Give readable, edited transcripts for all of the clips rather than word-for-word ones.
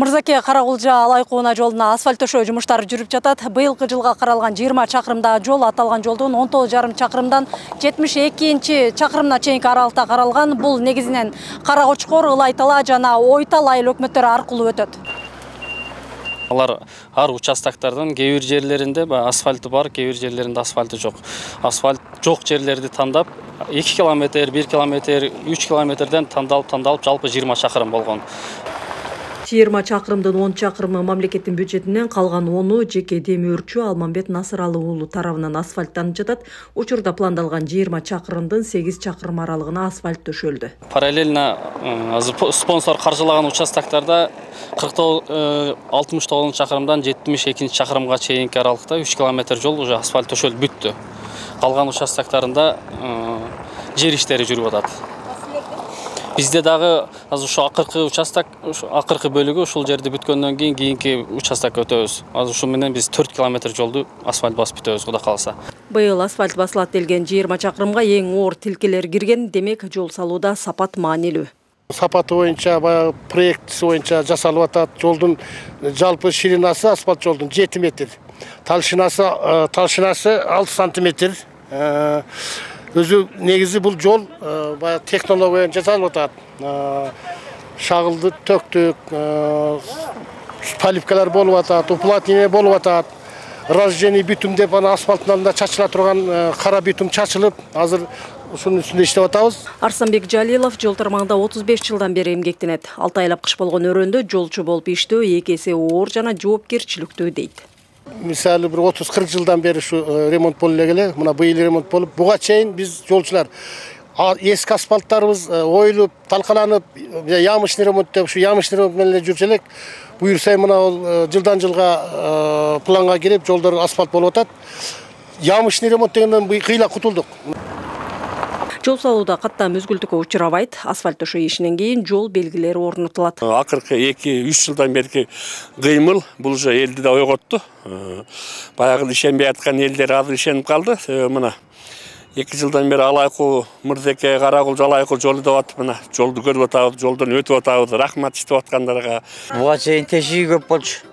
Мырзаке Каракулжа Алай Кууна жолуна асфальт төшөө жумуштары жүрүп жатат. Быйылкы жылга каралган 20 чакырымдагы жол аталган жолдун 19,5 чакырымдан 72 чакырымына чейинки аралыкта каралган. Бул негизинен Каракочкор, Ылайтала жана Ойтал айыл өкмөттөрү аркылуу өтөт. Алар ар участоктардын кээ бир жерлеринде асфальты бар, кээ бир жерлеринде асфальты жок. Асфальт жок жерлерди тандап 2 километр, 1 километр, 3 километрден тандалып жалпы 20 чакырым болгон. 20 чакырымдын 10 чакырымы мамлекеттин бюджетинен, калган 10-у жеке демир өрчү Алмамбет Насыралы уулу тарабынан асфальттанып жатат. Учурда пландалган 20 чакырымдын 8 чакырым аралыгына асфальт төшөлдү. Параллельно спонсор каржылаган участоктарда 69 чакырымдан 72 чакырымга чейинки аралыкта 3 километр жол уже асфальт төшөлүп бүттү. Калган участоктарында жер иштери жүрүп атат. Бизде дагы азыр ушу акыркы участок, акыркы бөлүгү ушул жерди бүткөндөн кийинки участокко өтөбүз. Азыр ушу менен биз 4 километр жолду асфальт басып бүтөбүз, Кудай кааласа. Быйыл асфальт басылат делген 20 чакырымга эң оор тилкелер кирген, демек жол салууда сапат маанилүү. Сапаты боюнча, баягы проектиси боюнча жасалып атат. Жолдун жалпы ширинасы асфальт жолдун 7 метр. Талшынасы 6 сантиметр. Өзү негизи бул жол баягы технология жасалып атат. Шагылды төктүк, поливкалар болуп атат, уплотнение болуп атат. Разжение битум деп аны асфальттын алдында чачыла турган кара битум чачылып, азыр ушунун үстүндө иштеп атабыз. Арсанбек Жалилов жол тармагында 35 жылдан бери эмгектенет. 6 айлап кыш болгон өрөөндө жолчу болуп иштөө 2 эсе оор жана жоопкерчиликтүү дейт. Мисалы бир 30-40 жылдан бери ушу ремонт болуп эле, мына быйыл ремонт болуп, буга чейин биз жолчулар эски асфальттарыбыз оюлуп, талкаланып, ямочный ремонт деп ушу ямочный ремонт менен эле жүрчү элек. Буюрса мына ал жылдан жылга планга кирип, жолдор асфальт болуп атат. Ямочный ремонт дегенден кыйла кутулдук. Жол салууда каттам өзгүлтүккө учурабайт. Асфальт төшөө ишинен кийин жол белгилери орнотулат. Акыркы 2-3 жылдан берки кыймыл бул же элди да ойготту. Баягы ишенбей аткан элдер азыр ишенип калды. Мына 2 жылдан бери Алайкуу Мырзаке Каракулжа Алайкуу жолу деп атып, мына жолду көрүп атабыз, жолдон өтүп атабыз. Рахмат иштеп аткандарга. Буга чейин тешиги көп болчу.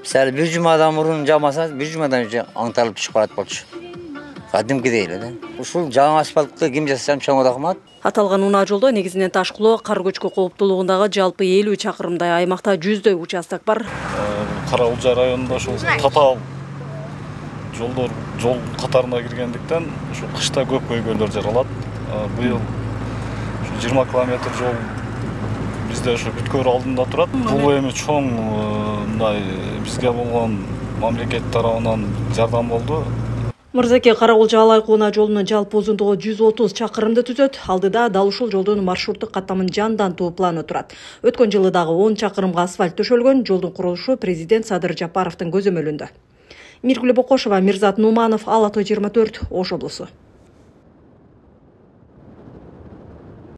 Мисалы бир жумадан мурун жамаса, бир жумадан аңталып түшүп калат болчу. Кадимкидей эле да. Ушул жаңы асфальтты ким жасасам чоң рахмат. Аталган унаа жолдо негизинен ташкылоо, кар көчкү кооптуулугундагы жалпы 50 чакырымдай аймакта 100дөй участок бар. Каракулжа районунда ошол татаал жолдор жол катарына киргендиктен ушу кышта көп көйгөйлөр жаралат. Быйыл 20 километр жол бизде ошо бүткөр алдында турат. Бул эми чоң мындай бизге болгон мамлекет тарабынан жардам болду. Мырзаке Каракулжа Алай Кууна жолунун жалпы узундугу 130 чакырымды түзөт. Алдыда дал ушул жолдун маршруттук каттамын жандантуу планы турат. Өткөн жылы дагы 10 чакырымга асфальт төшөлгөн. Жолдун курулушу президент Садыр Жапаровдун көзөмөлүндө. Миргүл Бокошова, Мирзат Нуманов, Ала Той 24, Ош облусу.